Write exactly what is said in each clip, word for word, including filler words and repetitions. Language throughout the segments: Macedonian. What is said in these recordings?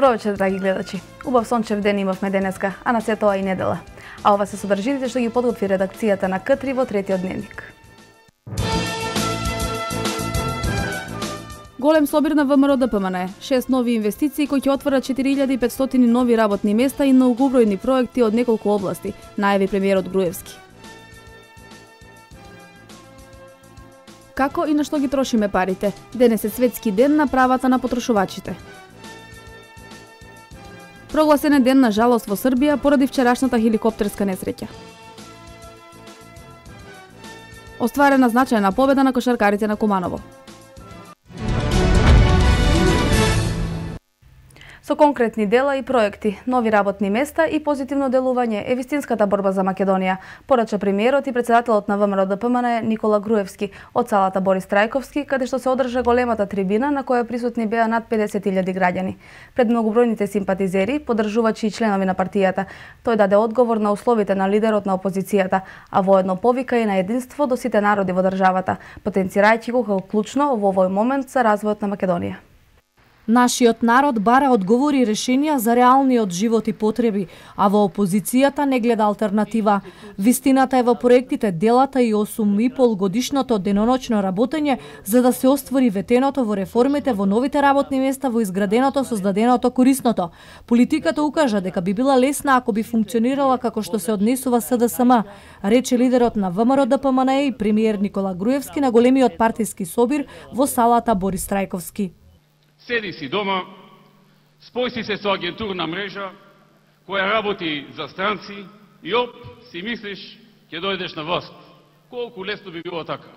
Добро вечер, драги гледачи. Убав сончев ден имавме денеска, а на се тоа и недела. А ова се содржините што ги подготви редакцијата на К три во третиот дневник. Голем собир на ВМРО Д П М Н, шест нови инвестиции кои ќе отворат четири илјади и петстотини нови работни места и многобројни проекти од неколку области, најави премиерот Груевски. Како и на што ги трошиме парите? Денес е светски ден на правата на потрошувачите. Прогласен е ден на жалост во Србија поради вчерашната хеликоптерска несреќа. Остварена значајна победа на кошаркарите на Куманово. Со конкретни дела и проекти, нови работни места и позитивно делување е вистинската борба за Македонија, порача премиерот и председателот на ВМРО Д П М Н Никола Груевски од салата Борис Трајковски, каде што се одржа големата трибина на која присутни беа над педесет илјади граѓани. Пред многобројните симпатизери, поддржувачи и членови на партијата, тој даде одговор на условите на лидерот на опозицијата, а воедно повика и на единство до сите народи во државата, потенцирајќи го како клучно во овој момент за развојот на Македонија. Нашиот народ бара одговори и решенија за реалниот живот и потреби, а во опозицијата не гледа алтернатива. Вистината е во проектите, делата и осум и пол годишното деноночно работење за да се оствори ветеното во реформите, во новите работни места, во изграденото, создаденото, корисното. Политиката укажа дека би била лесна ако би функционирала како што се однесува С Д С М, рече лидерот на ВМРО Д П М Н и премиер Никола Груевски на големиот партиски собир во салата Борис Трајковски. Седи си дома, спој си се со агентурна мрежа која работи за странци и оп, си мислиш ќе дојдеш на власт. Колку лесно би било така.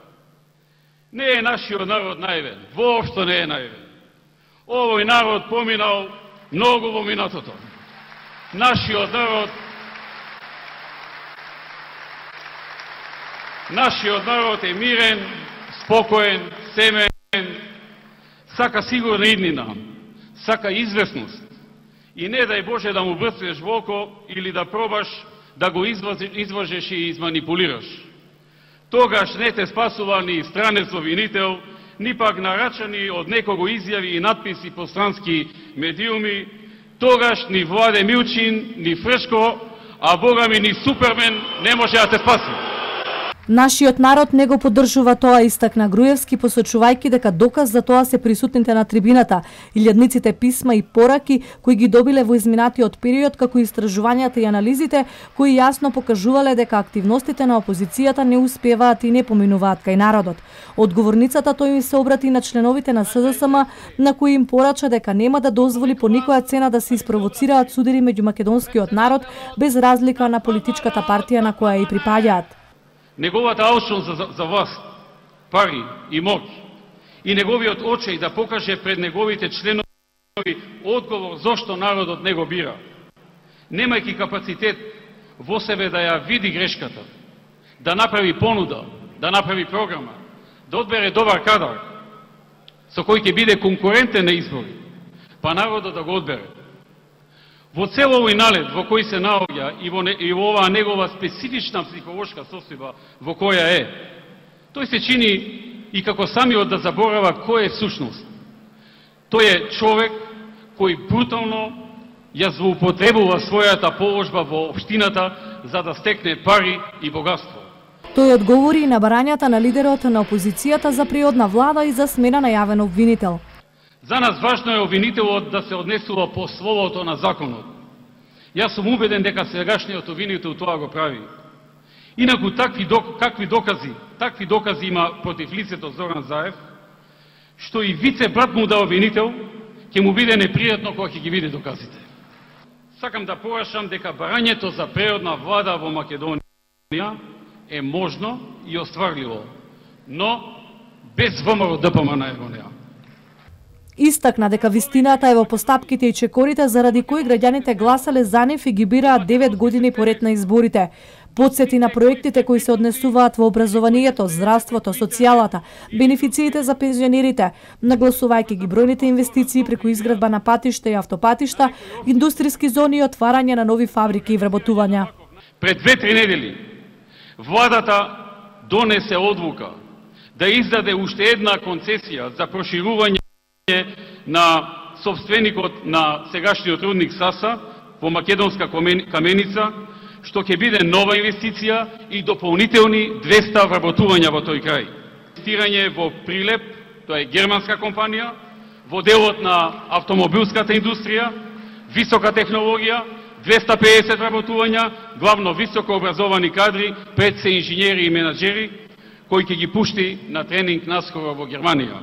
Не е нашиот народ наивен, воопшто не е наивен. Овој народ поминал многу во минатото. Нашиот народ Нашиот народ е мирен, спокоен, семен, сака сигурна иднина, сака известност и не дај Боже да му брцнеш во око или да пробаш да го изважеш и изманипулираш. Тогаш не те спасува ни странец обвинител, ни пак нарачани од некого изјави и надписи по странски медиуми, тогаш ни Владе Милчин, ни Фрешко, а Бога ми ни Супермен не може да те спаси. Нашиот народ не го поддржува тоа, истакна Груевски, посочувајќи дека доказ за тоа се присутните на трибината, илјадниците писма и пораки кои ги добиле во изминатиот период, како и истражувањата и анализите кои јасно покажувале дека активностите на опозицијата не успеваат и не поминуваат кај народот. Одговорницата тој им се обрати на членовите на С Д С М, на кои им порача дека нема да дозволи по никоја цена да се испровоцираат судири меѓу македонскиот народ без разлика на политичката партија на која и припаѓаат. Неговата алчност за, за власт, пари и моќ и неговиот очеј да покаже пред неговите членови одговор зошто народот не го бира, немајќи капацитет во себе да ја види грешката, да направи понуда, да направи програма, да одбере добар кадар со кој ќе биде конкурентен на избори, па народот да го одбере. Во цел овој налет во кој се наоѓа и во, не, и во оваа негова специфична психолошка состојба во која е, тој се чини и како самиот да заборава кој е сушност. Тој е човек кој брутално ја злоупотребува својата положба во општината за да стекне пари и богатство. Тој одговори и на барањата на лидерот на опозицијата за приодна влада и за смена на јавен обвинител. За нас важно е обвинителот да се однесува по словото на законот. Јас сум убеден дека сегашниот обвинител тоа го прави. Инаку такви док, какви докази, такви докази има против лицето Зоран Заев, што и вице брат му да обвинител, ќе му биде непријатно кога ќе ги види доказите. Сакам да порашам дека барањето за природна влада во Македонија е можно и остварливо, но без ВМРО Д П М Н го неа. Истакна дека вистината е во постапките и чекорите заради кои граѓаните гласале за нив и ги бираат девет години поред на изборите. Подсети на проектите кои се однесуваат во образованието, здравството, социјалата, бенефициите за пензионерите, нагласувајќи ги бројните инвестиции преку изградба на патишта и автопатишта, индустријски зони и отварање на нови фабрики и вработувања. Пред две-три недели владата донесе одлука да издаде уште една концесија за проширување на собственикот на сегашниот рудник Саса во Македонска каменица, што ќе биде нова инвестиција и дополнителни двеста вработувања во тој крај. Инвестирање во Прилеп, тоа е германска компанија, во делот на автомобилската индустрија, висока технологија, двеста и педесет вработувања, главно високо образовани кадри, пред се инженери и менаџери, кој ќе ги пушти на тренинг наскоро во Германија.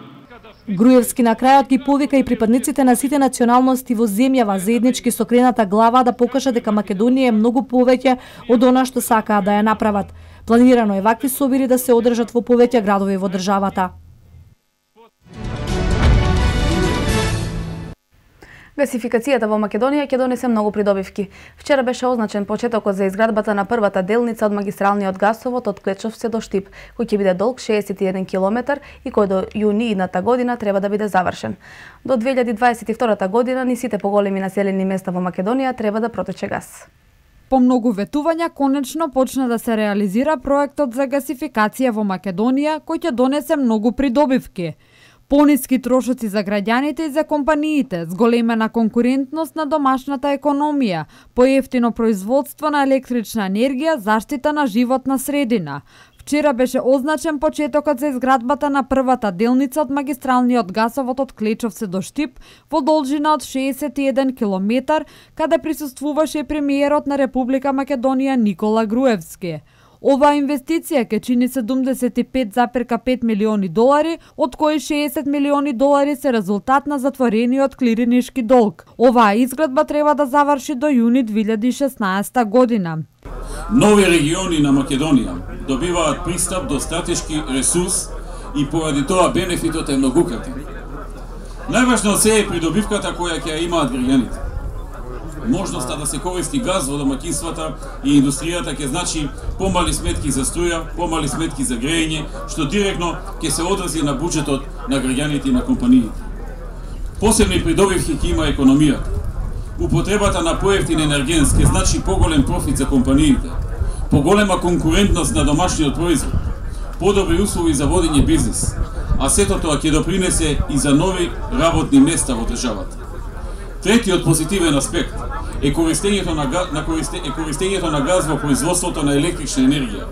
Груевски на крајот ги повика и припадниците на сите националности во земјава заеднички со крената глава да покажа дека Македонија е многу повеќе од она што сакаат да ја направат. Планирано е вакви собири да се одржат во повеќе градови во државата. Гасификацијата во Македонија ќе донесе многу придобивки. Вчера беше означен почетокот за изградбата на првата делница од магистралниот гасовод од Клечовце до Штип, кој ќе биде долг шеесет и еден километар и кој до јуни идната година треба да биде завршен. До две илјади дваесет и втора година ни сите поголеми населени места во Македонија треба да протече газ. По многу ветувања, конечно почна да се реализира проектот за гасификација во Македонија, кој ќе донесе многу придобивки. Пониски трошоци за граѓаните и за компаниите, зголемена конкурентност на домашната економија, поевтино производство на електрична енергија, заштита на животна средина. Вчера беше означен почетокот за изградбата на првата делница од магистралниот гасовод од Клечовце до Штип во должина од шеесет и еден километар, каде присуствуваше премиерот на Република Македонија Никола Груевски. Оваа инвестиција ќе чини седумдесет и пет запирка пет милиони долари, од кои шеесет милиони долари се резултат на затворениот клиринишки долг. Оваа изградба треба да заврши до јуни две илјади и шеснаесета година. Нови региони на Македонија добиваат пристап до стратешки ресурс и поради тоа бенефитот е многукратен. Најважно се е придобивката која ќе ја имаат граѓаните. Можноста да се користи газ во домаќинствата и индустријата ќе значи помали сметки за струја, помали сметки за грејење, што директно ќе се одрази на буџетот на граѓаните и на компаниите. Посебни придобивки ќе има економијата. Употребата на поевтин енергенс ќе значи поголем профит за компаниите, поголема конкурентност на домашниот производ, подобри услови за водење бизнис, а сето тоа ќе допринесе и за нови работни места во државата. Третиот позитивен аспект е користењето на, на, користе, е користењето на газ во производството на електрична енергија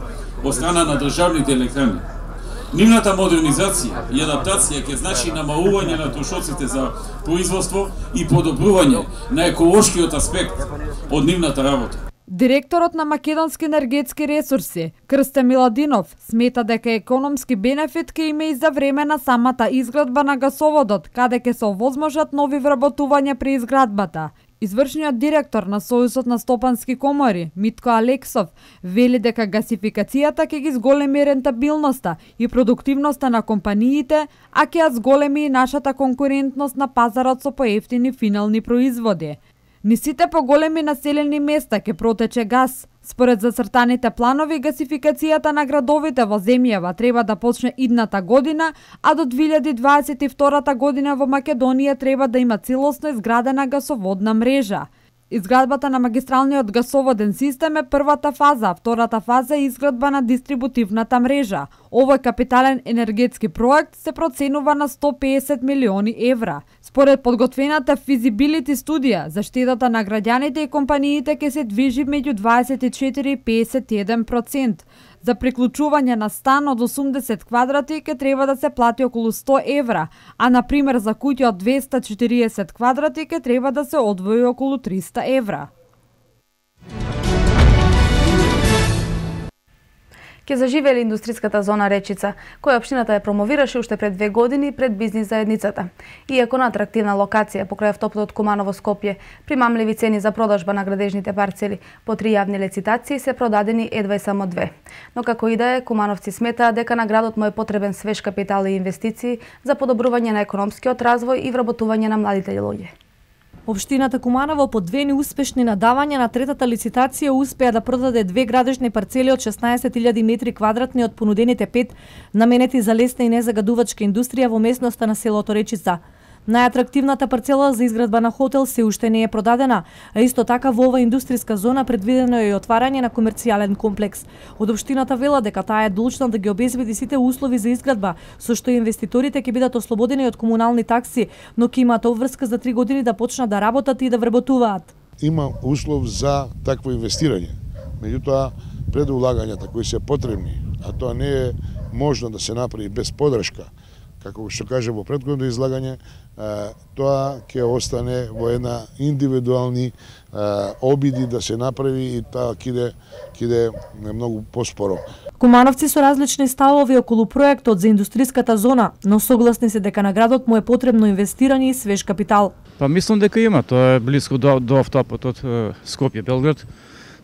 од страна на државните електрани. Нивната модернизација и адаптација ќе значи намалување на трошоците за производство и подобрување на еколошкиот аспект од нивната работа. Директорот на Македонски енергетски ресурси, Крсте Миладинов, смета дека економски бенефит ќе има и за време на самата изградба на гасоводот, каде ќе се овозможат нови вработувања при изградбата. Извршниот директор на Сојузот на стопански комори, Митко Алексов, вели дека гасификацијата ќе ги зголеми рентабилноста и продуктивноста на компаниите, а ќе ја зголеми и нашата конкурентност на пазарот со поевтини финални производи. Низ сите поголеми населени места ќе протече газ. Според зацртаните планови, гасификацијата на градовите во земјава треба да почне идната година, а до две илјади дваесет и втора година во Македонија треба да има целосно изградена гасоводна мрежа. Изградбата на магистралниот гасоводен систем е првата фаза, а втората фаза е изградба на дистрибутивната мрежа. Овој капитален енергетски проект се проценува на сто и педесет милиони евра. Според подготвената физибилити студија, заштедата на граѓаните и компаниите ќе се движи меѓу дваесет и четири и педесет и еден проценти. За приклучување на стан од осумдесет квадрати ќе треба да се плати околу сто евра, а на пример за куќа од двеста и четириесет квадрати ќе треба да се одвои околу триста евра. Ке заживели индустриската зона Речица, која општината ја промовираше уште пред две години пред бизнис заедницата. Иако на атрактивна локација покрај автопутот Куманово-Скопје, примамливи цени за продажба на градежните парцели, по три јавни лицитации се продадени едва и само две. Но како и да е, кумановци сметаат дека на градот му е потребен свеж капитал и инвестиции за подобрување на економскиот развој и вработување на младите луѓе. Општината Куманово по две неуспешни надавања на третата лицитација успеа да продаде две градежни парцели од шеснаесет илјади метри квадратни од понудените пет наменети за лесна и незагадувачка индустрија во местноста на селото Речица. Најатрактивната парцела за изградба на хотел се уште не е продадена, а исто така во ова индустријска зона предвидено е и отварање на комерцијален комплекс. Од општината вела дека таа е должна да ги обезбеди сите услови за изградба, со што инвеститорите ќе бидат ослободени од комунални такси, но ќе имаат обврска за три години да почнат да работат и да вработуваат. Има услов за такво инвестирање. Меѓутоа, предулагањата кои се потребни, а тоа не е можно да се направи без подршка, како што кажа во претходното излагање, тоа ќе остане во една индивидуални обиди да се направи и тоа ќе иде многу поспоро. Кумановци со различни ставови околу проектот за индустријската зона, но согласни се дека на градот му е потребно инвестирање и свеж капитал. Па мислам дека има, тоа е близко до, до автопот од Скопје Белград,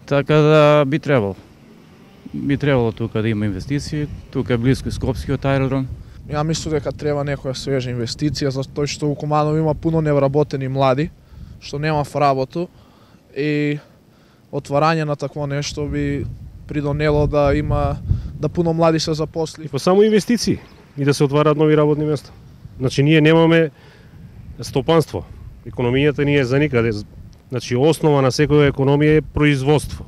така да би требало. Би требало тука да има инвестиции, тука е близко Скопскиот аеродром. Ја мислам дека треба некоја свежа инвестиција, затоа што у Куманово има пуно невработени млади, што нема работу, и отварање на такво нешто би придонело да има да пуно млади се запосли. Па само инвестиции и да се отварат нови работни места. Значи ние немаме стопанство. Економијата ни е за никаде. Значи основа на секоја економија е производство.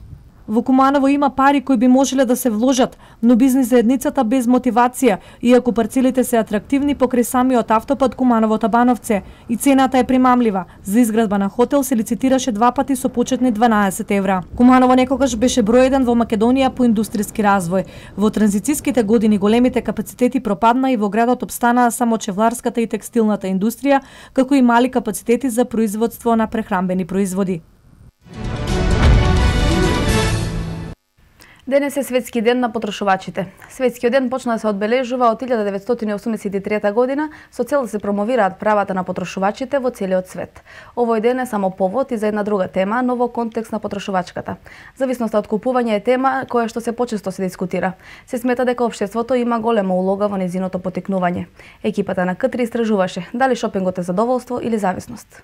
Во Куманово има пари кои би можеле да се вложат, но бизнис заедницата без мотивација, иако парцелите се атрактивни покрај самиот автопат Куманово-Табановце и цената е примамлива. За изградба на хотел се лицитираше два пати со почетни дванаесет евра. Куманово некогаш беше број еден во Македонија по индустријски развој. Во транзициските години големите капацитети пропадна и во градот опстанаа само чевларската и текстилната индустрија, како и мали капацитети за производство на прехранбени производи. Денес е Светски ден на потрошувачите. Светскиот ден почна да се одбележува од илјада деветстотини осумдесет и трета година со цел да се промовираат правата на потрошувачите во целиот свет. Овој ден е само повод и за една друга тема, но во контекст на потрошувачката. Зависноста од купување е тема која што се почесто се дискутира. Се смета дека општеството има голема улога во незиното потекнување. Екипата на К три истражуваше дали шопингот е задоволство или зависност.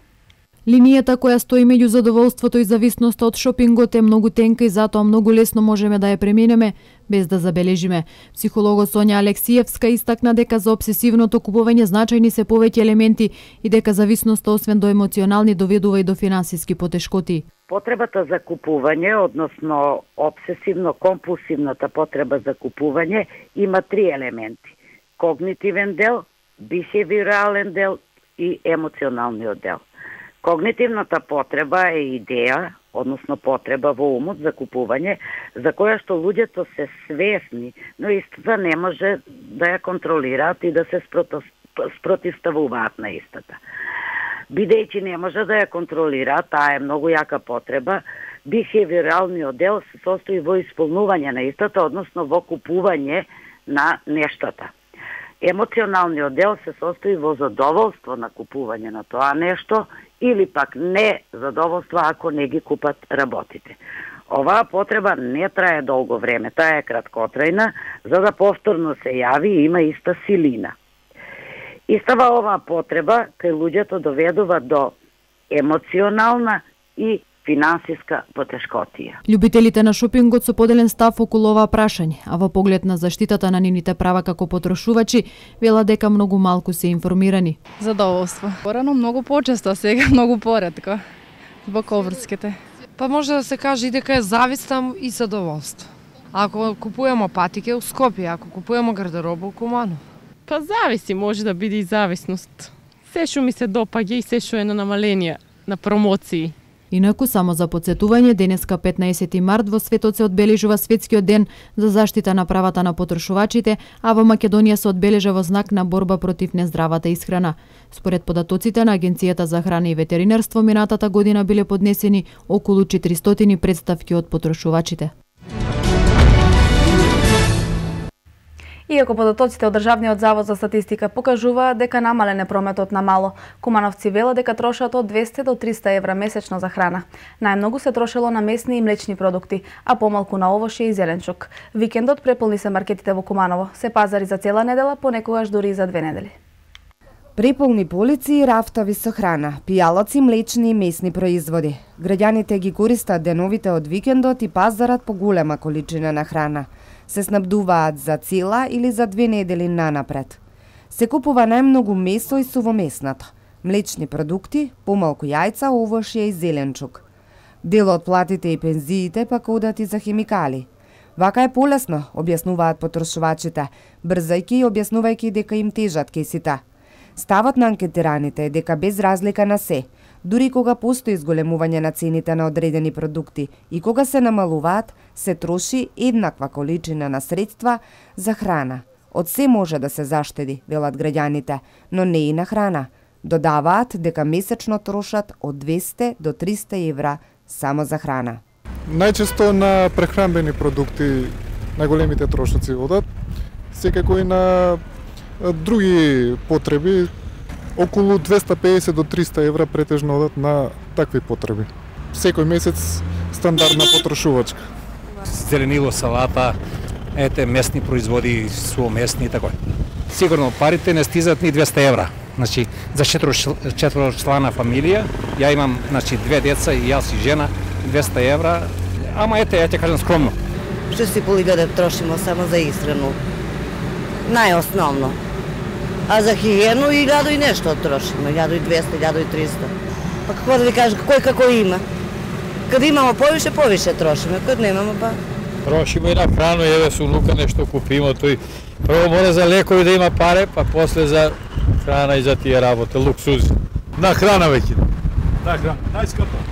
Линијата која стои меѓу задоволството и зависноста од шопингот е многу тенка и затоа многу лесно можеме да ја преминеме без да забележиме. Психологот Сонја Алексиевска истакна дека за обсесивното купување значајни се повеќе елементи и дека зависноста освен до емоционални доведува и до финансиски потешкоти. Потребата за купување, односно обсесивно-компулсивната потреба за купување, има три елементи: когнитивен дел, бихевиорален дел и емоционалниот дел. Когнитивната потреба е идеја, односно потреба во умот за купување, за која што луѓето се свесни, но истата не може да ја контролираат и да се спротивставуваат на истата. Бидејќи не може да ја контролираат, таа е многу јака потреба, бихевиоралниот дел се состои во исполнување на истата, односно во купување на нештата. Емоционалниот дел се состои во задоволство на купување на тоа нешто или пак не задоволство ако не ги купат работите. Оваа потреба не трае долго време, таа е краткотрајна, за да повторно се јави и има иста силина. Истава оваа потреба кај луѓето доведува до емоционална и финансиска потешкотија. Љубителите на шопингот со поделен став околу оваа прашање, а во поглед на заштитата на нивните права како потрошувачи, вела дека многу малку се информирани. Задоволство. Порано многу почесто, сега многу поретко. Због обврските. Па може да се каже и дека е завист и задоволство. Ако купуваме патике у Скопје, ако купуваме гардероба у Куманово. Па зависи, може да биде и зависност. Се што ми се допаѓа и се што е на намаление на промоции. Инаку, само за подсетување, денеска петнаесети март во светот се одбележува Светскиот ден за заштита на правата на потрошувачите, а во Македонија се одбележа во знак на борба против нездравата исхрана. Според податоците на Агенцијата за храна и ветеринарство, минатата година биле поднесени околу четиристотини претставки од потрошувачите. Иако податоците од Државниот завод за статистика покажуваат дека намален е прометот на мало, кумановци вела дека трошат од двесте до триста евра месечно за храна. Најмногу се трошело на месни и млечни продукти, а помалку на овошје и зеленчук. Викендот преполни се маркетите во Куманово, се пазари за цела недела, понекогаш дури и за две недели. Преполни полици и рафтави со храна, пијалаци, млечни и месни производи. Граѓаните ги користат деновите од викендот и пазарат по голема количина на храна. Се снабдуваат за цела или за две недели нанапред. Се купува најмногу месо и сувомеснато. Млечни продукти, помалку јајца, овошје и зеленчук. Дел од платите и пензиите пак одат и за химикали. Вака е полесно, објаснуваат потрошувачите, брзајки и објаснувајќи дека им тежат кесите. Ставот на анкетираните е дека без разлика на се, дури кога постои зголемување на цените на одредени продукти и кога се намалуваат, се троши еднаква количина на средства за храна. Од се може да се заштеди, велат граѓаните, но не и на храна. Додаваат дека месечно трошат од двесте до триста евра само за храна. Најчесто на прехранбени продукти најголемите трошоци одат, секако и на други потреби, околу двесте и педесет до триста евра претежно одат на такви потреби. Секој месец стандардна потрошувачка. Зеленило, салата, ете месни производи, суомесни и тако. Сигурно парите не стизат ни двесте евра. Значи за четворочлана фамилија, ја имам значи две деца и јас и жена, двесте евра. Ама ете, ја ќе кажам скромно. Што си полига да трошимо само за исхрану. Најосновно. А за хигиену и илјаду и нешто трошимо, илјаду и двесте, илјаду и триста. Па како да ви кажам, кој како има. Кад имамо повише, повише трошиме, кад немамо па... Трошимо и на храну, еве со унука нешто купимо, тој прво мора за лекови да има паре, па после за храна и за тие работи, луксузи. На храна веќе. На храна, најскапа.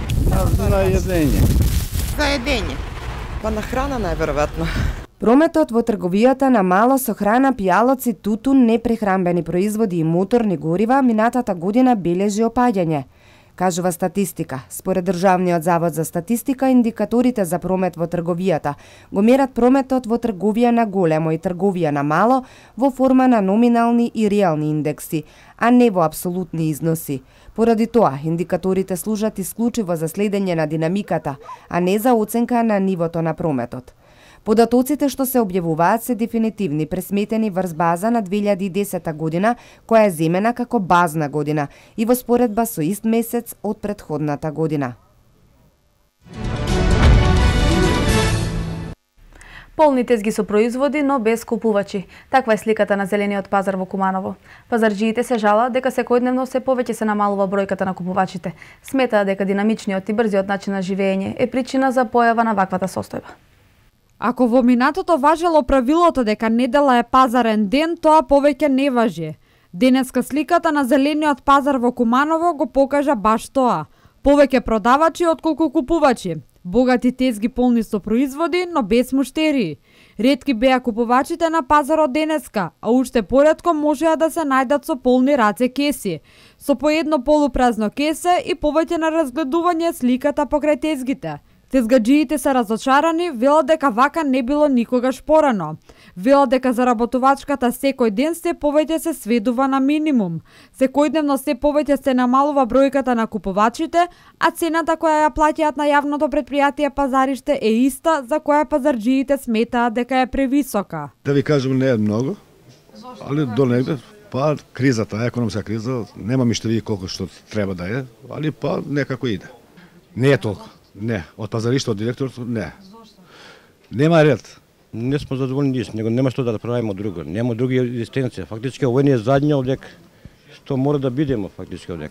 На једење. За једење. Па на храна најверојатно. Прометот во трговијата на мало со храна, пијалоци, тутун, непрехранбени производи и моторни горива минатата година бележи опаѓање, кажува статистика. Според Државниот завод за статистика, индикаторите за промет во трговијата го мерат прометот во трговија на големо и трговија на мало во форма на номинални и реални индекси, а не во апсолутни износи. Поради тоа, индикаторите служат исклучиво за следење на динамиката, а не за оценка на нивото на прометот. Податоците што се објавуваат се дефинитивни, пресметени врз база на две илјади и десета година, која е земена како базна година и во споредба со ист месец од претходната година. Полни тезги со производи, но без купувачи. Таква е сликата на зелениот пазар во Куманово. Пазарџиите се жалат дека секојдневно се повеќе се намалува бројката на купувачите. Сметаат дека динамичниот и брзиот начин на живење е причина за појава на ваквата состојба. Ако во минатото важело правилото дека недела е пазарен ден, тоа повеќе не важи. Денеска сликата на зелениот пазар во Куманово го покажа баш тоа. Повеќе продавачи отколку купувачи. Богати тезги полни со производи, но без муштерии. Ретки беа купувачите на пазарот денеска, а уште поретко можеа да се најдат со полни раце кеси. Со по едно полупразно кесе и повеќе на разгледување сликата покрај тезгите. Тезгаџиите се разочарани, велат дека вака не било никогаш порано. Велат дека заработувачката секој ден се повеќе се сведува на минимум. Секојдневно се повеќе се намалува бројката на купувачите, а цената која ја плаќаат на јавното предпријатие Пазариште е иста, за која пазарџиите сметаат дека е превисока. Да ви кажам, не е многу, али до негде, па кризата, економска криза, нема миштерии колку што треба да е, али па некако иде. Не е толку. Не, од пазариште, од директорот, не. Нема ред. Не сме задоволни ние, него нема што да правиме друго. Нема други дестинации. Фактички овој не е задниот одек што мора да бидеме фактички одек.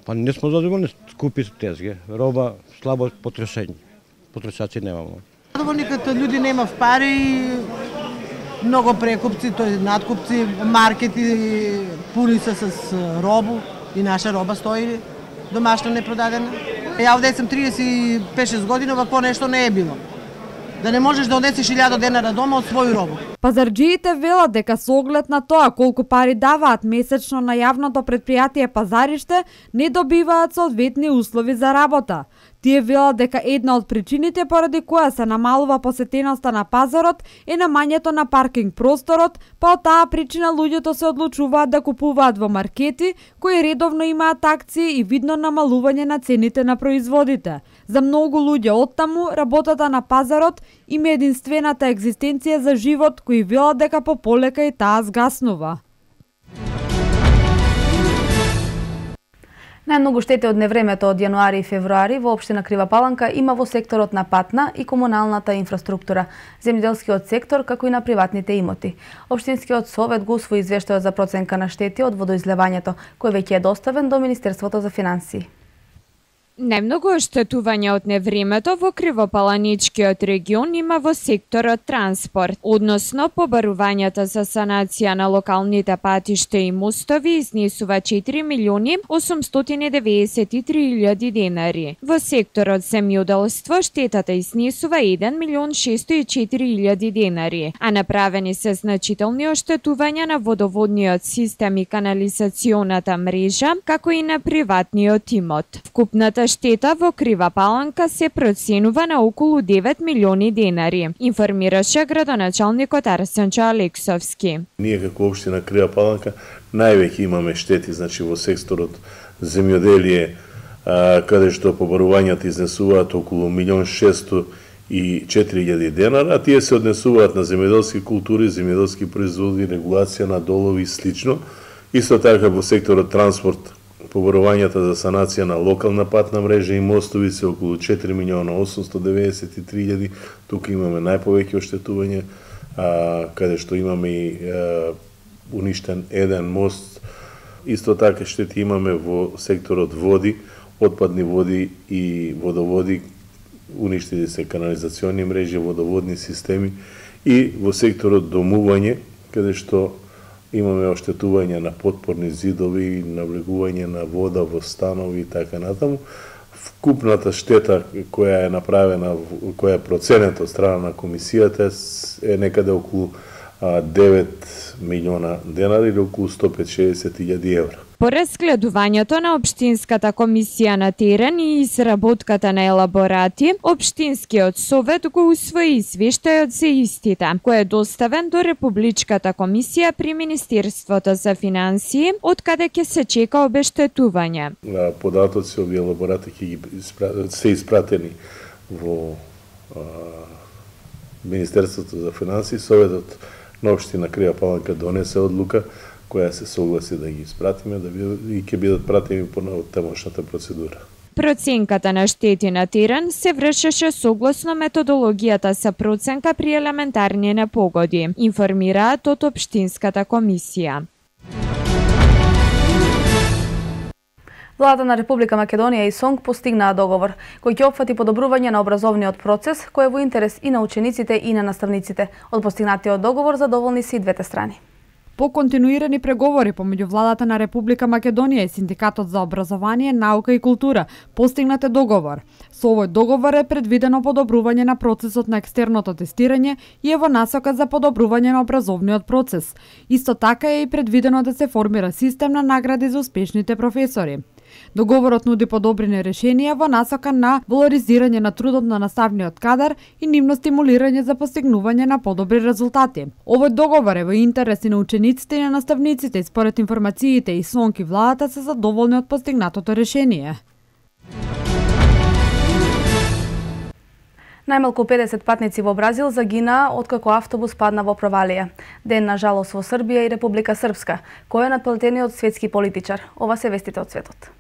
Па не сме задоволни, скупи тезги, роба слабо потрошење. Потрошачи немамо. Задоволни като луѓе немав пари, многу прекупци, тој надкупци, маркети пуни се с робу и наша роба стои домашно непродадена. Ја овде сум триесет и пет шест години, вакво нешто не е било. Да не можеш да однесеш илјада денара дома од свој робот. Пазарџиите велат дека со оглед на тоа колку пари даваат месечно на јавното предпријатие Пазариште, не добиваат соодветни услови за работа. Тие велат дека една од причините поради која се намалува посетеноста на пазарот е намањето на паркинг просторот, па од таа причина луѓето се одлучуваат да купуваат во маркети кои редовно имаат акции и видно намалување на цените на производите. За многу луѓе оттаму работата на пазарот им е единствената екзистенција за живот, кои велат дека пополека и таа згаснува. Најмногу штети од невремето од јануари и февруари во општина Крива Паланка има во секторот на патна и комуналната инфраструктура, земјоделскиот сектор, како и на приватните имоти. Општинскиот совет го усвои извештајот за проценка на штети од водоизлевањето, кој веќе е доставен до Министерството за финансии. Најмногу оштетување од невремето во Кривопаланичкиот регион има во секторот транспорт, односно побарувањата за санација на локалните патишта и мостови изнесува четири милиони осумстотини деведесет и три илјади денари. Во секторот земјоделство штетата изнесува еден милион шесто и четири илјади денари, а направени се значителни оштетувања на водоводниот систем и канализационата мрежа, како и на приватниот имот. Вкупната штета во Крива Паланка се проценува на околу девет милиони денари, информираше градоначалникот Арсенчо Алексовски. Ние како општина Крива Паланка највеќе имаме штети, значи во секторот земјоделие, каде што побарувањата изнесуваат околу милион шесто и четири илјади денара, а тие се однесуваат на земјоделски култури, земјоделски производи, регулација на долови и слично. Исто така во секторот транспорт побарувањата за санација на локална патна мрежа и мостови се околу четири милиона осумсто деведесет и три илјади. Тука имаме најповеќе оштетување, а, каде што имаме и а, уништен еден мост. Исто така штети имаме во секторот води, отпадни води и водоводи, уништени се канализациони мрежи, водоводни системи, и во секторот домување, каде што имаме оштетување на подпорни зидови, навлегување на вода во станови и така натаму. Вкупната штета која е направена, која е проценет од страна на комисијата, е некаде околу девет милиона денари или околу сто петдесет илјади евра. По разгледувањето на Општинската комисија на терен и изработката на елаборати, Општинскиот совет го усвои извештајот за истите, кој е доставен до Републичката комисија при Министерството за финансии, од каде ќе се чека обештетување. Податоци овие елаборати ќе се испратени во а, Министерството за финансии. Советот на општина Крива Паланка донесе одлука која се согласи да ги испратиме, да и ќе бидат пратени по тамошната процедура. Проценката на штети на терен се вршеше согласно методологијата за проценка при елементарни непогоди, информираат од Општинската комисија. Владата на Република Македонија и СОНГ постигнаа договор кој ќе опфати подобрување на образовниот процес, кој е во интерес и на учениците и на наставниците. Од постигнатиот договор задоволни се и двете страни. По континуирани преговори помеѓу владата на Република Македонија и Синдикатот за образование, наука и култура постигнат е договор. Со овој договор е предвидено подобрување на процесот на екстерното тестирање и е во насока за подобрување на образовниот процес. Исто така е и предвидено да се формира систем на награди за успешните професори. Договорот нуди подобрени решенија во насока на валоризирање на трудот на наставниот кадар и нивно стимулирање за постигнување на подобри резултати. Овој договор е во интерес и на учениците и на наставниците и според информациите и СОНГ и владата се задоволни од постигнатото решение. Најмалку педесет патници во Бразил загинаа откако автобус падна во провалија. Ден на жалост во Србија и Република Српска, кој е надплатениот светски политичар. Ова се вестите од светот.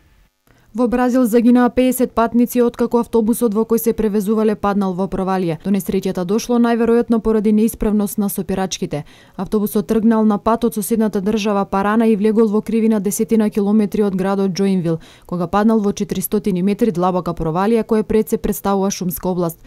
Во Бразил загинаа педесет патници откако автобусот во кој се превезувале паднал во провалија. До несреќата дошло најверојатно поради неисправност на сопирачките. Автобусот тргнал на пат од соседната држава Парана и влегол во кривина десетина километри од градот Џоинвил, кога паднал во четиристотини метри длабока провалија која пред се представува шумска област.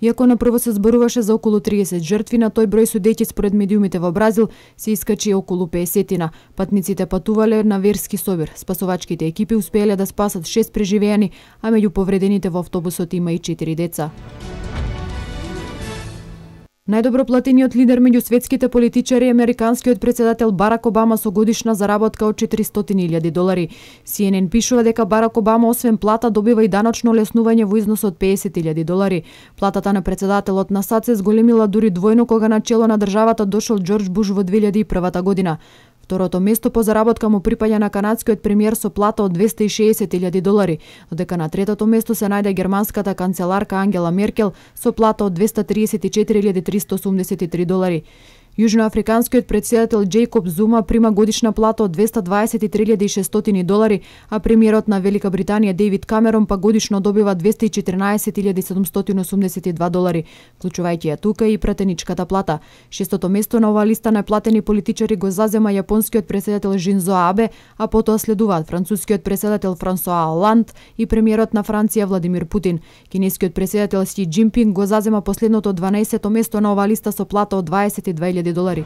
Иако на прво се зборуваше за околу триесет жртви, на тој број судејќи според медиумите во Бразил се искачи околу педесетина. Патниците патувале на верски собир. Спасовачките екипи успеале да спасат шест преживеани, а меѓу повредените во автобусот има и четири деца. Најдобро платениот лидер меѓу светските политичари е американскиот претседател Барак Обама со годишна заработка од четиристотини илјади долари. Си Ен Ен пишува дека Барак Обама освен плата добива и даночно олеснување во износ од педесет илјади долари. Платата на претседателот на САД се зголемила дури двојно кога на чело на државата дошол Џорџ Буш во две илјади и прва година. Второто место по заработка му припаѓа на канадскиот премиер со плата од двесте и шеесет илјади долари, додека на третото место се најде германската канцеларка Ангела Меркел со плата од двесте триесет и четири илјади триста осумдесет и три долари. Јужноафриканскиот претседател Џејкоб Зума прима годишна плата од двесте дваесет и три илјади и шестстотини долари, а премиерот на Велика Британија Дејвид Камерон па годишно добива двесте и четрнаесет илјади седумстотини осумдесет и два долари, вклучувајќи ја тука и пратеничката плата. Шестото место на оваа листа на платени политичари го зазема јапонскиот претседател Шинзо Абе, а потоа следуваат францускиот претседател Франсоа Оланд и премиерот на Франција Владимир Путин. Кинескиот претседател Си Џинпинг го зазема последното дванаесето место на оваа листа со плата од дваесет и две илјади долари.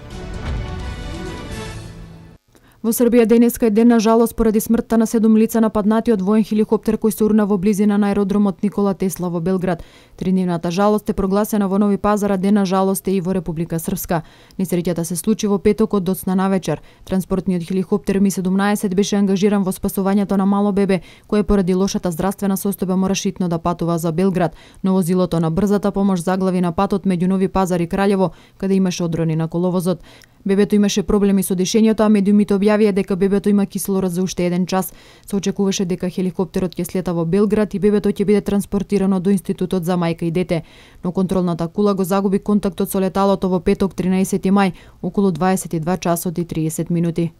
Во Србија денеска е ден на жалост поради смртта на седум лица нападнати од воен хеликоптер кој се урна во близина на аеродромот Никола Тесла во Белград. Тридневната жалост е прогласена во Нови Пазар, а ден на жалост е и во Република Српска. Несреќата се случи во петокот доцна навечер. Транспортниот хеликоптер Ми седумнаесет беше ангажиран во спасувањето на мало бебе, кое поради лошата здравствена состојба мораше итно да патува за Белград, но возилото на брзата помош заглави на патот меѓу Нови Пазар и Краљево, каде имаше одрони на коловозот. Бебето имаше проблеми со дишењето, а медиумите објавија дека бебето има кислород за уште еден час. Се очекуваше дека хеликоптерот ќе слета во Белград и бебето ќе биде транспортирано до Институтот за мајка и дете. Но контролната кула го загуби контактот со леталото во петок тринаесети мај, околу дваесет и два часот и триесет минути.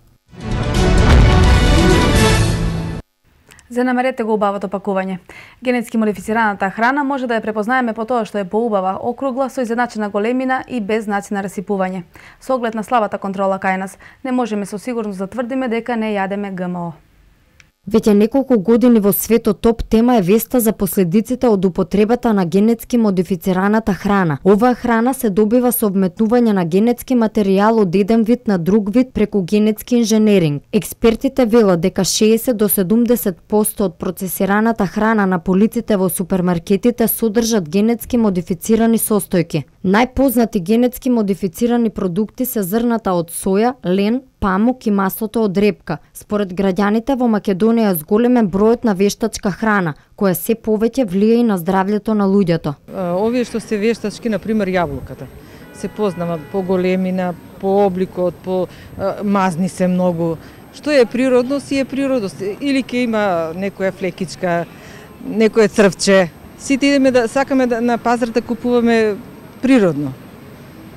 Занемарете го убавото пакување. Генетски модифицираната храна може да ја препознаеме по тоа што е поубава, округла, со изедначена големина и без знаци на расипување. Со оглед на слабата контрола кај нас, не можеме со сигурност да тврдиме дека не јадеме ГМО. Веќе неколку години во светот топ тема е веста за последиците од употребата на генетски модифицираната храна. Оваа храна се добива со вметнување на генетски материјал од еден вид на друг вид преку генетски инженеринг. Експертите велат дека шеесет до седумдесет проценти од процесираната храна на полиците во супермаркетите содржат генетски модифицирани состојки. Најпознати генетски модифицирани продукти се зрната од соја, лен, памук и маслото од репка. Според граѓаните во Македонија е зголемен бројот на вештачка храна, која се повеќе влијае и на здравјето на луѓето. Овие што се вештачки, на пример јаболката, се познава по големина, по обликот, по мазни се многу. Што е природно, си е природност. Или ќе има некоја флекичка, некоја црвче. Сите идеме да сакаме да на пазар да купуваме природно.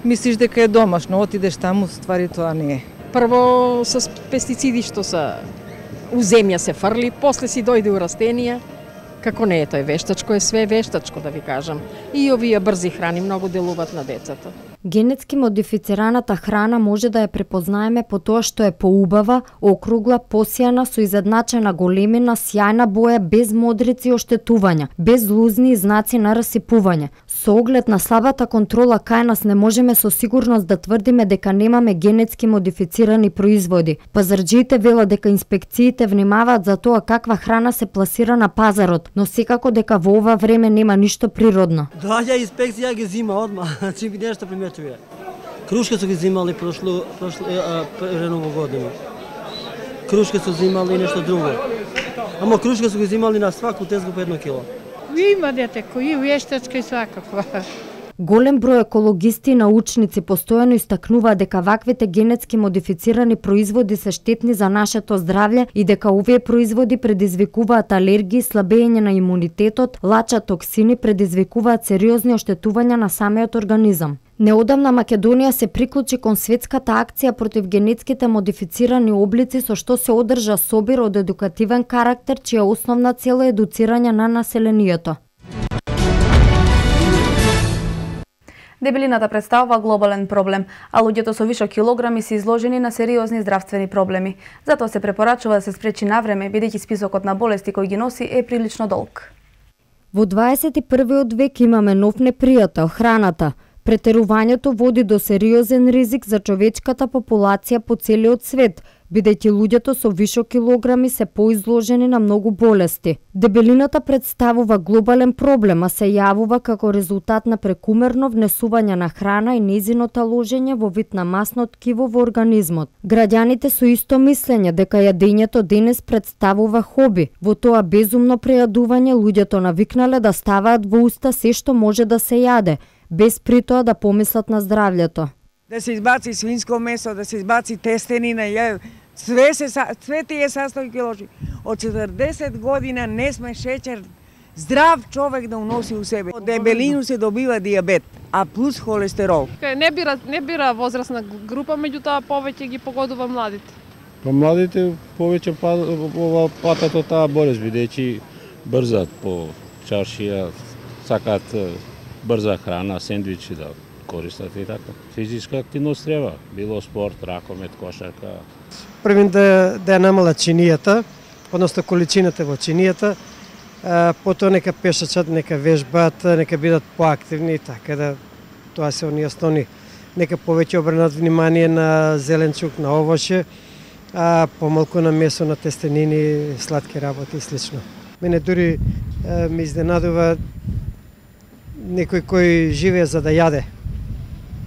Мислиш дека е домашно, отидеш таму, ствари тоа не е. Прво с пестициди што се у земја се фрли, после си дојде у растенија. Како не е тој вештачко, е све вештачко да ви кажам. И овие брзи храни многу делуваат на децата. Генетски модифицираната храна може да ја препознаеме по тоа што е поубава, округла, посјана, со изедначена големина, сјајна боја, без модрици и оштетувања, без лузни и знаци на расипување. Со оглед на слабата контрола кај нас не можеме со сигурност да тврдиме дека немаме генетски модифицирани производи. Пазарџиите велат дека инспекциите внимаваат за тоа каква храна се пласира на пазарот, но секако дека во ова време нема ништо природно. Доаѓа инспекција ги зима одма, значи ви нешто приметувија. Крушка су ги зимали прошло прошло реново година. Крушка су зимали и нешто друго. Ама крушка су ги зимали на сваку тезгу по едно кило. Има дете кои вештачка и свакаква. Голем број екологисти и научници постојано истакнуваат дека ваквите генетски модифицирани производи се штетни за нашето здравје и дека овие производи предизвикуваат алергии, слабење на имунитетот, лачат токсини, предизвикуваат сериозни оштетувања на самиот организам. Неодамна Македонија се приклучи кон светската акција против генетските модифицирани облици, со што се одржа собир од едукативен карактер, чија основна цел е едуцирање на населението. Дебелината представува глобален проблем, а луѓето со вишок килограми се изложени на сериозни здравствени проблеми. Затоа се препорачува да се спречи навреме, бидејќи списокот на болести кои ги носи е прилично долг. Во дваесет и првиот век имаме нов непријател – храната. Претерувањето води до сериозен ризик за човечката популација по целиот свет, бидејќи луѓето со вишок килограми се поизложени на многу болести. Дебелината представува глобален проблем, а се јавува како резултат на прекумерно внесување на храна и нејзиното ложење во вид на масно ткиво во организмот. Граѓаните со исто мислење дека јадењето денес представува хоби. Во тоа безумно прејадување луѓето навикнале да ставаат во уста се што може да се јаде, без при тоа да помислат на здравјето. Да се избаци свинско месо, да се избаци тестенина, ја, све, се, све тие састојки лоши. Од четрдесет година не сме шеќер Здрав човек да уноси у себе. Од дебелину се добива дијабет, а плюс холестерол. Не бира, не бира возрастна група, меѓутоа повеќе ги погодува младите. Па младите повеќе патат од таа болест, бидејќи брзат по чаршија, сакаат брза храна, сендвичи да користат и така. Физичка активност треба, било спорт, ракомет, кошарка. Првим да, да ја намалат чинијата, односно количината во чинијата, а, потоа нека пешачат, нека вежбат, нека бидат поактивни, така да тоа се оние основни. Нека повеќе обрнат внимание на зеленчук, на овоше, а помалку на месо, на тестенини, сладки работи и слично. Мене дури а, ме изненадува некој кој живее за да јаде,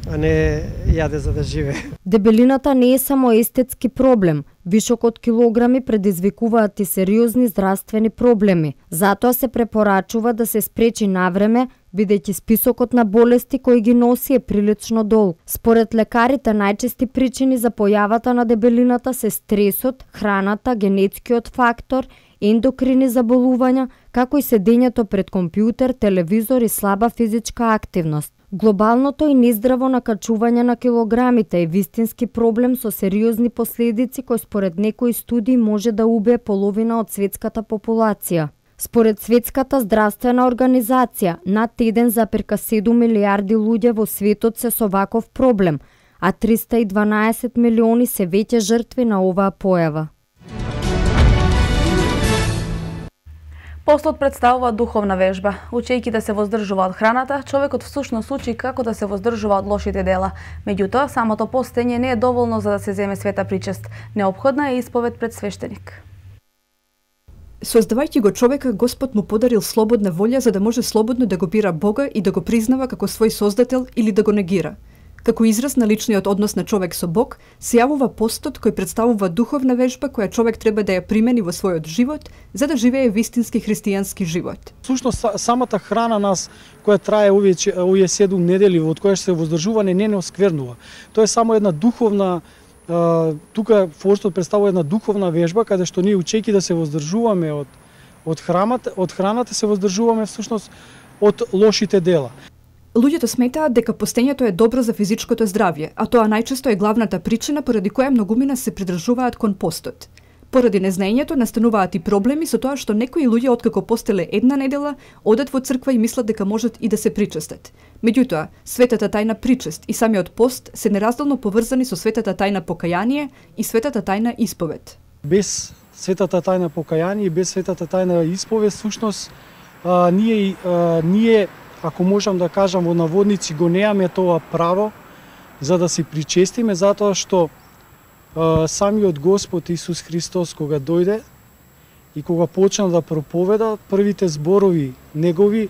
а не јаде за да живее. Дебелината не е само естетски проблем. Вишок од килограми предизвикуваат и сериозни здравствени проблеми. Затоа се препорачува да се спречи навреме, бидејќи списокот на болести кои ги носи е прилично долг. Според лекарите, најчести причини за појавата на дебелината се стресот, храната, генетскиот фактор, ендокрини заболувања, како и седењето пред компјутер, телевизор и слаба физичка активност. Глобалното и нездраво накачување на килограмите е вистински проблем со сериозни последици кои според некои студии може да убие половина од светската популација. Според Светската здравствена организација, над еден зарез седум милијарди луѓе во светот се со ваков проблем, а триста и дванаесет милиони се веќе жртви на оваа појава. Постот представува духовна вежба. Учејќи да се воздржува од храната, човекот всушност учи како да се воздржува од лошите дела. Меѓутоа, самото постење не е доволно за да се земе света причест. Неопходна е исповед пред свештеник. Создавајќи го човека, Господ му подарил слободна волја за да може слободно да го бира Бога и да го признава како свој создател или да го негира. Како израз на личниот однос на човек со Бог, се јавува постот кој представува духовна вежба која човек треба да ја примени во својот живот за да живее вистински христијански живот. Всушност самата храна нас која трае овие овие седум недели од која се воздржуване не не осквернува. Тоа е само една духовна тука постот представува една духовна вежба каде што ние учејќи да се воздржуваме од од храната, од храната се воздржуваме всушност од лошите дела. Луѓето сметаат дека постењето е добро за физичкото здравје, а тоа најчесто е главната причина поради која многумина се придржуваат кон постот. Поради незнаењето настануваат и проблеми со тоа што некои луѓе откако постеле една недела, одат во црква и мислат дека можат и да се причестат. Меѓутоа, светата тајна причест и самиот пост се неразделно поврзани со светата тајна покаяние и светата тајна исповед. Без светата тајна покаяние и без светата тајна исповед, всушност а, ние а, ние ако можам да кажам во наводници, го неаме тоа право за да се причестиме, затоа што а, самиот Господ Исус Христос кога дојде и кога почна да проповеда, првите зборови негови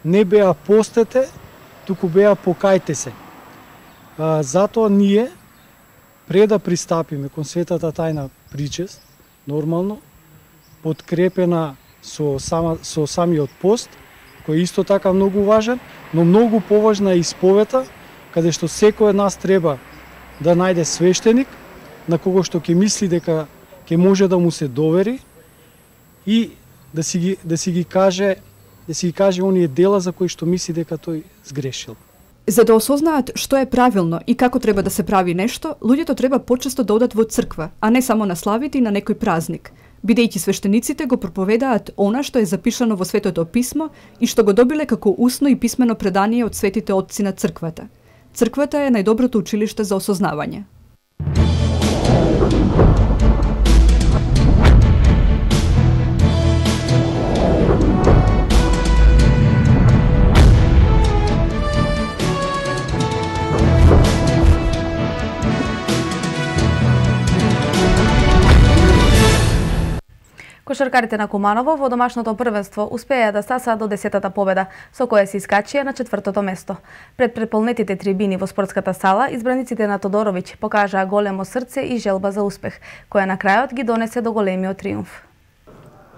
не беа постете, туку беа покајте се. А, затоа ние, пред да пристапиме кон светата тајна причест, нормално, подкрепена со, сама, со самиот пост, кој е исто така многу важен, но многу поважна е исповета, каде што секој од нас треба да најде свештеник, на кого што ќе мисли дека ќе може да му се довери и да си ги, да си ги каже, да си ги каже оние дела за кои што мисли дека тој сгрешил. За да осознаат што е правилно и како треба да се прави нешто, луѓето треба почесто да одат во црква, а не само на славите и на некој празник, бидејќи свештениците го проповедаат она што е запишано во Светото писмо и што го добиле како усно и писмено предание од светите отци на црквата. Црквата е најдоброто училиште за осознавање. Кошаркарите на Куманово во домашното првенство успеа да стасаат до десетата победа, со која се искачија на четвртото место. Пред преполнетите трибини во спортската сала, избраниците на Тодоровиќ покажаа големо срце и желба за успех, која на крајот ги донесе до големиот триумф.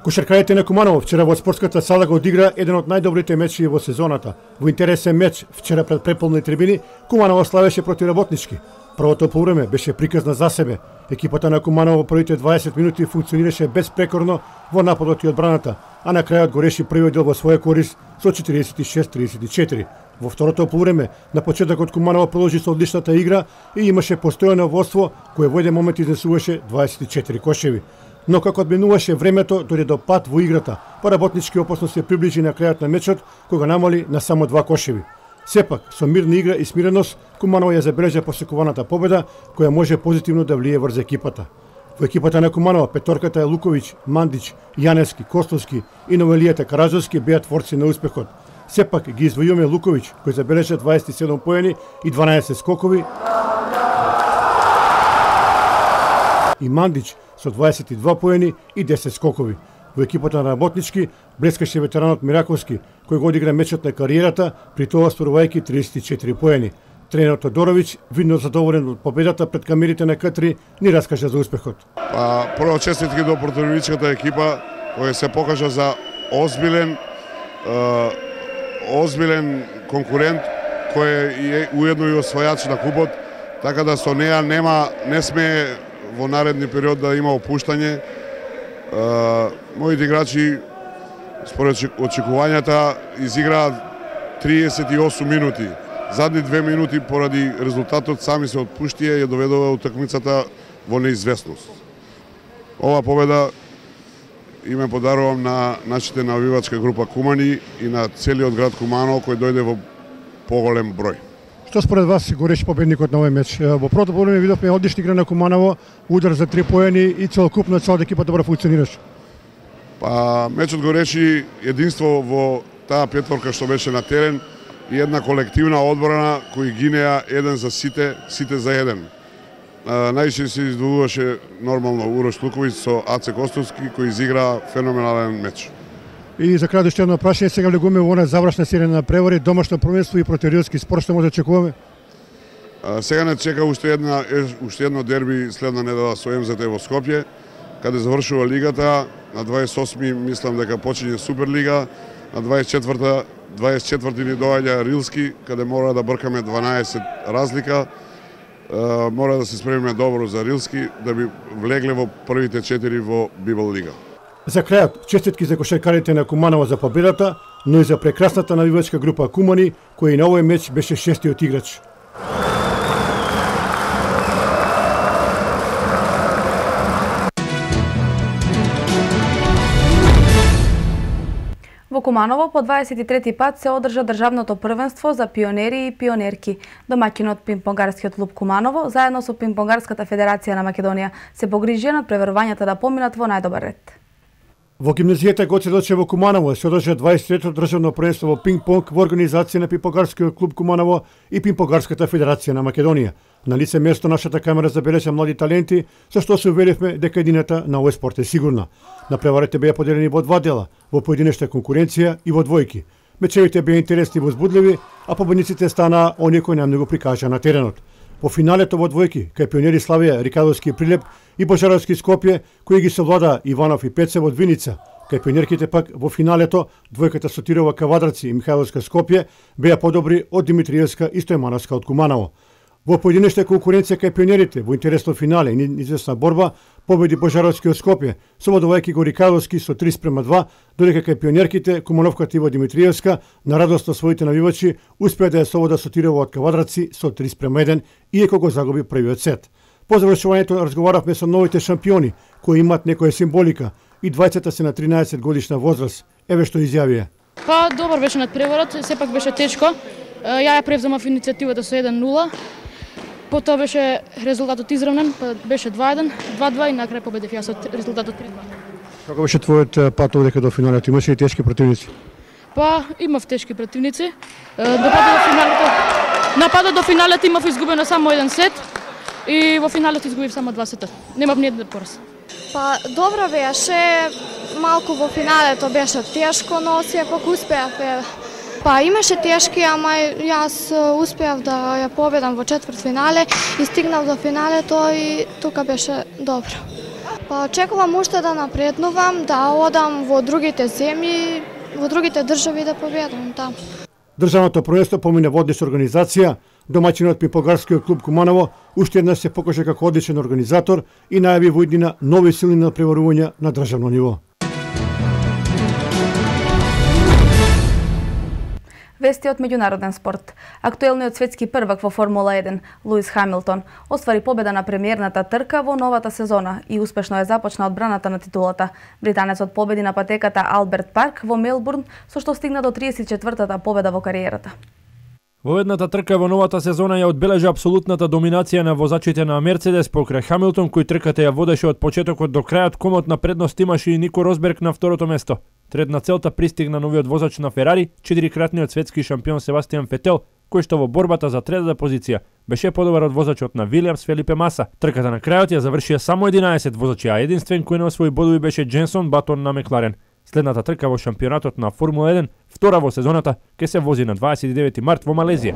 Кошаркарите на Куманово вчера во спортската сала го одигра еден од најдобрите мечи во сезоната. Во интересен меч, вчера пред преполни трибини, Куманово славеше проти Работнички. Првото полувреме беше приказна за себе. Екипата на Куманово во првите дваесет минути функционираше безпрекорно во нападот и одбраната, а на крајот го реши првиот дел во своја корист со четириесет и шест тридесет и четири. Во второто полувреме на почетокот Куманово продолжи со одличната игра и имаше постојано водство кое во еден момент изнесуваше дваесет и четири кошеви. Но како одминуваше времето, дојде до пат во играта, па работнички опасно се приближи на крајот на мечот, кога намали на само два кошеви. Сепак, со мирна игра и смиреност, Куманово ја забележа посекуваната победа, која може позитивно да влие врз екипата. Во екипата на Куманово, петорката е Луковиќ, Мандич, Јаневски, Костовски и Новелијата Караджовски беа творци на успехот. Сепак ги извојуваме Луковиќ, кој забележа дваесет и седум поени и дванаесет скокови, и Мандич со дваесет и два поени и десет скокови. Во екипата на работнички блескаше ветеранот Мираковски, кој го одигра мечот на кариерата, при тоа остварувајќи триесет и четири поени. Тренерот Тодоровиќ, видно задоволен од победата пред камерите на К три, ни раскажа за успехот. Па, прво честитки до противничката екипа, која се покажа за озбилен, е, озбилен конкурент, кој е уедно и освојач на купот, така да со неа нема, не сме во наредни период да има опуштање. Uh, моите играчи според очекувањата изиграат триесет и осум минути. Задни две минути поради резултатот сами се отпуштија ја доведува утакмицата во неизвестност. Ова победа име подарувам на нашите навивачка група Кумани и на целиот град Куманово кој дојде во поголем број. Што според вас го реши победникот на овој меч? Во првото полувреме видовме одлична игра на Куманово, удар за три поени и целокупно цела екипа добро функционираше. Па мечот го реши единство во таа петворка што беше на терен и една колективна одбрана кои гинеа еден за сите, сите за еден. Најше се издвојуваше нормално Урош Луковиќ со Аце Костовски кој изигра феноменален меч. И за крај уште едно прашање, сега влегуваме во она завршна серија на превори, домашно првенство и протериотски спор, што може да очекуваме? А, сега не чека уште една уште едно дерби следна недела со Ем Зет Е во Скопје, каде завршува лигата. На дваесет и осми мислам дека почиње Суперлига, на дваесет и четврта дваесет и четврти ни доаѓа Рилски, каде мора да бркаме дванаесет разлика. А, мора да се спремиме добро за Рилски да би влегле во првите четири во Библ Лига. За крајот, честитки за кошаркарите на Куманово за победата, но и за прекрасната навивачка група Кумани, кој и на овој меч беше шестиот играч. Во Куманово по дваесет и трети пат се одржа државното првенство за пионери и пионерки. Домаќинот Пинг-понгарскиот клуб Куманово, заедно со Пинг-понгарската федерација на Македонија, се погрижија над преверувањата да поминат во најдобар ред. Во гимназијата Гоце Делче во Куманово се одржа дваесет и трето државно првенство во пинг-понг во организација на Пинг-понгарскиот клуб Куманово и Пинг-понгарската федерација на Македонија. На лице место нашата камера забележа млади таленти, со што се уверивме дека едината на овој спорт е сигурна. Напреварите беа поделени во два дела, во поединечна конкуренција и во двојки. Мечевите беа интересни и возбудливи, а победниците станаа оние кои најмногу прикажа на теренот. Во финалето во двојки, кај пионери Славија, Рикадовски Прилеп и Божаровски Скопје, кои ги совлада Иванов и Пецев од Виница, кај пионерките пак во финалето, двојката Сотирова Кавадраци и Михајловска Скопје беа подобри од Димитриевска и Стојмановска од Куманово. Во поединечна конкуренција кај пионерите, во интересно финале и известна борба, победи Божаровски од Скопје, совладувајќи го Рикадовски со три спрема два, додека кај пионерките, Кумановката Ива Димитриевска, на радост на своите навивачи, успеа да ја совлада Сотирова од Кавадраци со три спрема еден, иако го загуби првиот сет. По завршувањето разговаравме со новите шампиони, кои имаат некоја символика, и двајцата се на тринаесет годишна возраст. Еве што изјавија. Па, добар беше надпреварот, сепак беше тешко. Ја ја превземав иницијативата со еден нула. Потоа беше резултатот изравнен, па беше два еден, два два и на крај победив јас со резултатот три два. Како беше твојот пат овдека до финалето? Имаше ли тешки противници? Па, имав тешки противници. До патот до финалето, на патот до финалето имав изгубено само еден сет и во финалето изгубив само два сета. Немав ни еден пораз. Па, добро беше, малку во финалето беше тешко, но сепак успеав. Па имаше тешки, ама јас успеав да ја победам во четвртфинале и стигнав до финалето и тука беше добро. Па очекувам уште да напреднувам, да одам во другите земји, во другите држави да победам таму. Државното првенство помине во одлична организација, Домаќинот Пимпогарскиот клуб Куманово уште еднаш се покаже како одличен организатор и најави во иднина нови сили на преварување на државно ниво. Вести од меѓународен спорт. Актуелниот светски првак во Формула еден, Луис Хамилтон, оствари победа на премиерната трка во новата сезона и успешно ја започна одбраната на титулата. Британецот победи на патеката Алберт Парк во Мелбурн, со што стигна до триесет и четвртата победа во кариерата. Во едната трка во новата сезона ја одбележа апсолутната доминација на возачите на Мерцедес покрај Хамилтон, кој трката ја водеше од почетокот до крајот. Комотна предност имаше и Нико Росберг на второто место. Трет на целта пристигна новиот возач на Ферари, четирикратниот светски шампион Себастијан Фетел, кој што во борбата за третата позиција беше подобар од возачот на Вилијамс Фелипе Маса. Трката на крајот ја завршија само единаесет возачи, а единствен кој не освои бодови беше Дженсон Батон на Мекларен. Следната трка во шампионатот на Формула еден, втора во сезоната, ке се вози на дваесет и девети март во Малезија.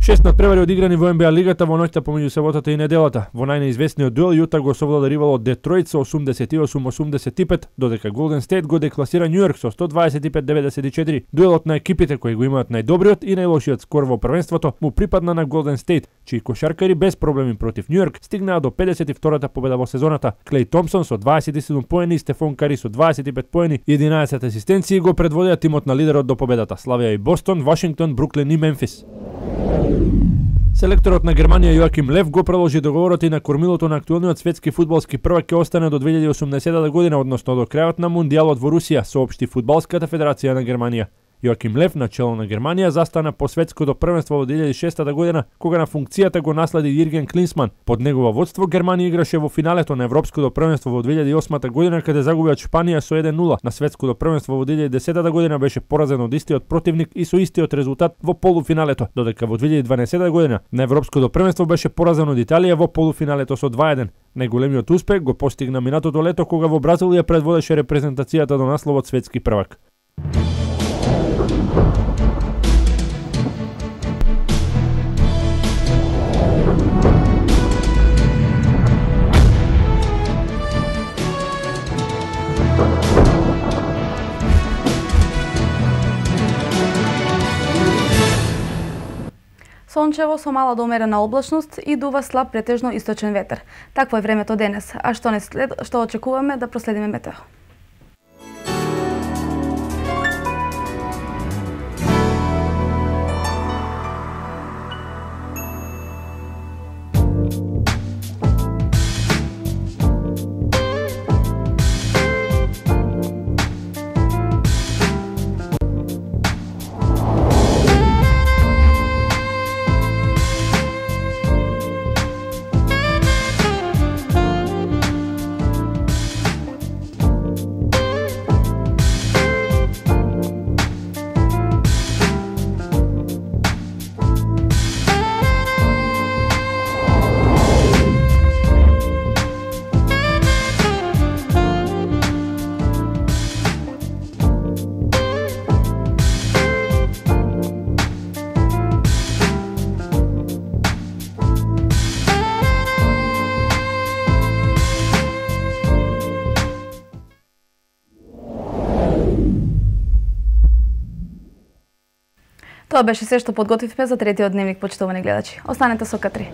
Шест надпревари одиграни во Н Б А лигата во ноќта помеѓу саботата и неделата. Во најнеизвестниот дуел Јута го совлада ривалот Детройт со осумдесет и осум осумдесет и пет, додека Голден Стейт го декласира Њујорк со сто дваесет и пет деветдесет и четири. Дуелот на екипите кои го имаат најдобриот и најлошиот скор во првенството му припадна на Голден Стейт, чии кошаркари без проблеми против Њујорк стигнаа до педесет и втората победа во сезоната. Клеј Томпсон со дваесет и седум поени и Стефон Кари со дваесет и пет поени и единаесет асистенции го предводеа тимот на лидерот до победата. Славија и Бостон, Вашингтон, Бруклин и Мемфис. Селекторот на Германија Јоаким Лев го продолжи договорот и на кормилото на актуелниот светски фудбалски првак ќе остане до две илјади и осумдесетата година, односно до крајот на Мундијалот во Русија, соопшти Фудбалската федерација на Германија. Јоаким Лев на чело на Германија застана по светското првенство во две илјади и шестата година, кога на функцијата го наследи Јирген Клинсман. Под негова водство Германија играше во финалето на Европското првенство во две илјади и осмата година, каде загуби од Шпанија со еден нула. На светското првенство во две илјади и десетата година беше поразен од истиот противник и со истиот резултат во полуфиналето, додека во две илјади и дванаесетата година на Европското првенство беше поразен од Италија во полуфиналето со два еден. Најголемиот успех го постигна минатото лето, кога во Бразилија предводеше репрезентацијата до насловот светски првак. Сончево со мала до умерена облачност и дува слаб претежно источен ветер. Такво е времето денес, а што не след, што очекуваме да проследиме метео. Тоа беше се што подготвивме за третиот дневник, почитувани гледачи. Останете со К три.